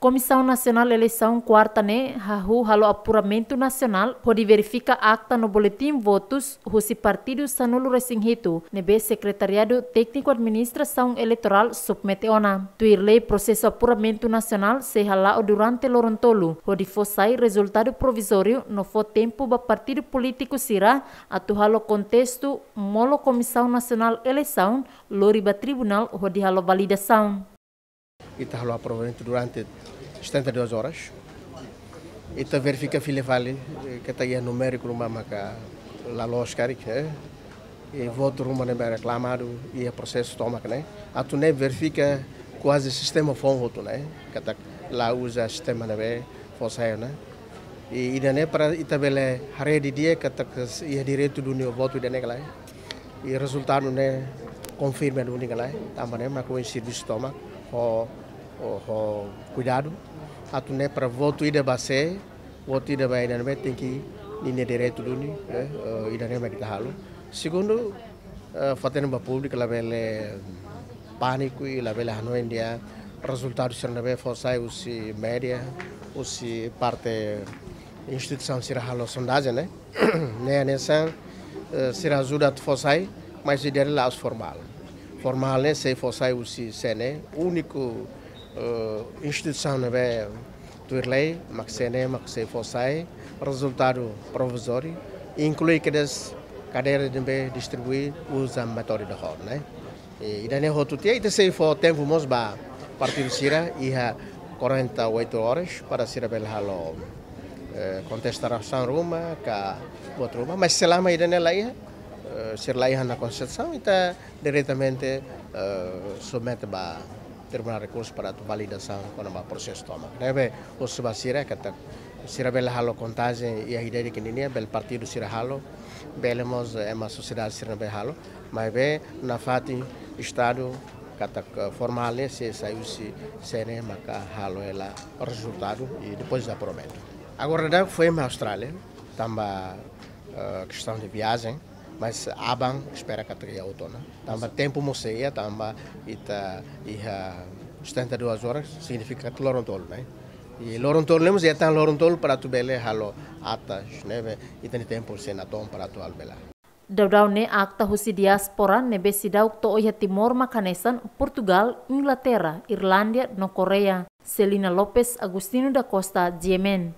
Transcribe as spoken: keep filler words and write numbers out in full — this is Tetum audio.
Komisaun Nasionál Eleisaun kuarta ne'e hahú halo apuramentu nasionál hodi verifika akta no boletin votus husi partidu sanulu-resin-hitu ne'ebé Sekretariadu Tékniku Administrasaun Eleitorál submete ona. Tuir lei, prosesu apuramentu nasionál sei hala'o durante loron tolu hodi fó sai rezultadu provizóriu no fó tempu ba partidu polítiku sira atu halo kontestu molok Komisaun Nasionál Eleisaun lori ba tribunál hodi halo validasaun. Ita halo aprovamentu durante setenta e duas horas. Ita verifika fila fali, eh, katak iha numériku ruma maka la loos karik, eh. I votu ruma ne'ebé reklamadu iha prosesu tomak ne'e. Atu ne'e verifika kuaze sistema foun hotu ne'e, katak la uza sistema ne'ebé fó sai ne'e. I ida-ne'e para ita bele haree didi'ak katak iha direitu duni votu ida-ne'e ka lae. I rezultadu ne'e konfirma duni ka lae. Tanba ne'e mak ohin servisu tomak ho, ho, ho kuidadu. Atu ne'e para votu ida ba sé, votu ida ba ida ne'ebé tenke ninia direitu duni, eh, eh, ida-ne'e mak ita halo. Segundu, eh, fó-hatene ba públiku labele pániku i labele hanoin dehan rezultadu sira ne'ebé fó sai husi média, husi parte instituisaun sira halo sondajen ne'e. Ne'e hanesan, eh, sira ajuda atu fó sai, mas ida-ne'e la'ós formál. Formál ne'e sei fó sai husi C N E, úniku, eh, instituisaun ne'ebé tuir lei mak C N E mak sei fó sai rezultadu provizóriu, inklui kedas kadeira ne'ebé distribui uza métodu ida hor ne'e. I ida-ne'e hotu tiha, ita sei fó tempu mós ba partidu sira iha quarenta e oito horas para sira bele halo, eh, kontestasaun ruma ka votu ruma. Mas selama ida-ne'e la iha, eh, sira la iha ona kontestasaun, ita diretamente, eh, submete ba Tribunál Rekursu para atu validasaun kona-ba prosesu tomak. Ne'ebé husu ba sira katak sira bele halo kontajen iha ida-idak nian, bele partidu sira halo, bele mós, eh, ema sosiedade sira ne'ebé halo, maibé nafatin Estadu katak, eh, formál ne'e sei sai husi C N E maka halo hela rezultadu i depois aprovamentu. Agora daudaun foin mai Austrália, tanba, eh, kestaun de viajen, mas aban espera katak iha hotu ona. Tanba tempu mós sei iha, tanba ita iha setenta e duas horas, signifika katak loron tolu, ne'e? I loron tolu ne'e mós iha tan loron tolu para atu bele halo atas, ne'ebé ita-nia tempu sei natoon para atu halo bele. Daudaun ne'e akta husi diáspora ne'ebé seidauk to'o iha Timor mak hanesan Portugal, Inglaterra, Irlándia no Koreia. Celina Lopes, Agostinho da Costa, G M N.